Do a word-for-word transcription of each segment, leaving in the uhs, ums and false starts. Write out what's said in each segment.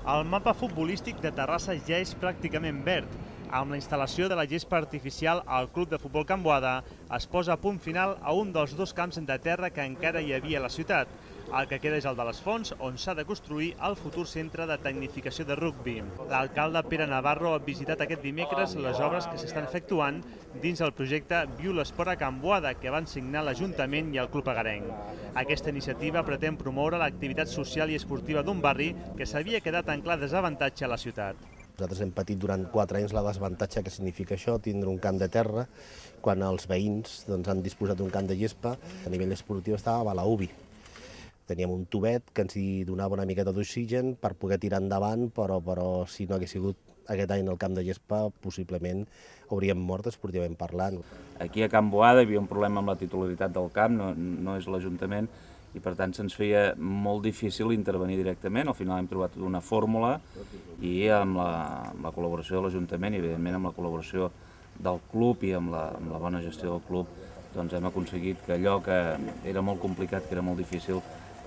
El mapa futbolístic de Terrassa ja és pràcticament verd. Amb la instal·lació de la gespa artificial al Club de Futbol Can Boada es posa a punt final a un dels dos camps de terra que encara hi havia a la ciutat. El que queda és el de les Fonts, on s'ha de construir el futur centre de tecnificació de rugbi. L'alcalde Pere Navarro ha visitat aquest dimecres les obres que s'estan efectuant dins el projecte Viu l'Esport a Can Boada, que van signar l'Ajuntament i el Club Agarenc. Aquesta iniciativa pretén promoure l'activitat social i esportiva d'un barri que s'havia quedat en clar desavantatge a la ciutat. Nosaltres hem patit durant quatre anys la desavantatge que significa això, tindre un camp de terra, quan els veïns doncs, han disposat d'un camp de gespa. A nivell esportiu estava a la U B I. Teníem un tubet que ens hi donava una miqueta d'oxigen per poder tirar endavant, però, però si no hagués sigut aquest any el camp de gespa, possiblement hauríem mort esportivament parlant. Aquí a Can Boada hi havia un problema amb la titularitat del camp, no, no és l'Ajuntament, i per tant se'ns feia molt difícil intervenir directament. Al final hem trobat una fórmula i amb la, amb la col·laboració de l'Ajuntament i evidentment amb la col·laboració del club i amb la, amb la bona gestió del club doncs hem aconseguit que allò que era molt complicat, que era molt difícil,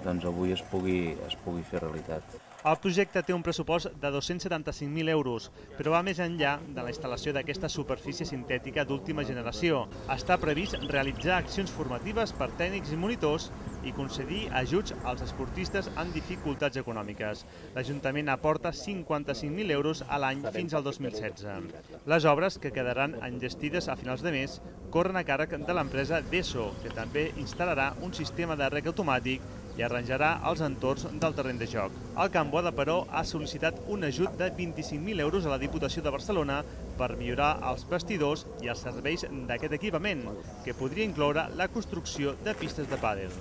doncs avui es pugui, es pugui fer realitat. El projecte té un pressupost de dos-cents setanta-cinc mil euros, però va més enllà de la instal·lació d'aquesta superfície sintètica d'última generació. Està previst realitzar accions formatives per tècnics i monitors i concedir ajuts als esportistes amb dificultats econòmiques. L'Ajuntament aporta cinquanta-cinc mil euros a l'any fins al dos mil setze. Les obres, que quedaran enllestides a finals de mes, corren a càrrec de l'empresa Deso, que també instal·larà un sistema de rec automàtic i arranjarà els entorns del terreny de joc. El Can Boada, però, ha sol·licitat un ajut de vint-i-cinc mil euros a la Diputació de Barcelona per millorar els vestidors i els serveis d'aquest equipament, que podria incloure la construcció de pistes de pàdel.